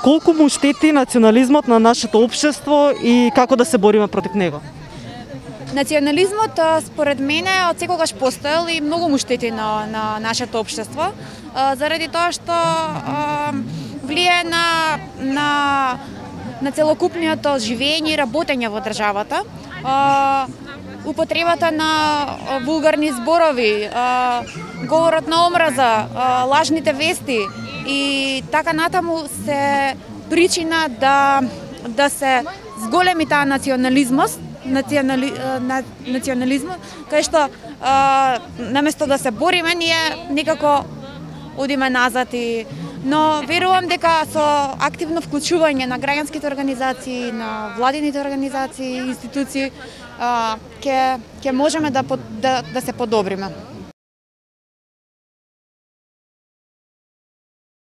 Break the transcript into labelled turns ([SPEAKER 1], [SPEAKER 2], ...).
[SPEAKER 1] колку му штети национализмот на нашето општество и како да се бориме против него?
[SPEAKER 2] Национализмот, според мене, од секогаш постоел и многу му штети на нашето општество, заради тоа што влие на целокупното живење и работење во државата, употребата на вулгарни зборови, говорот на омраза, лажните вести и така натаму се причина да се зголеми таа национализмот, кај што наместо да се бориме, ние некако одиме назад но верувам дека со активно вклучување на граѓанските организации, на владините организации и институции ќе можеме да се подобриме.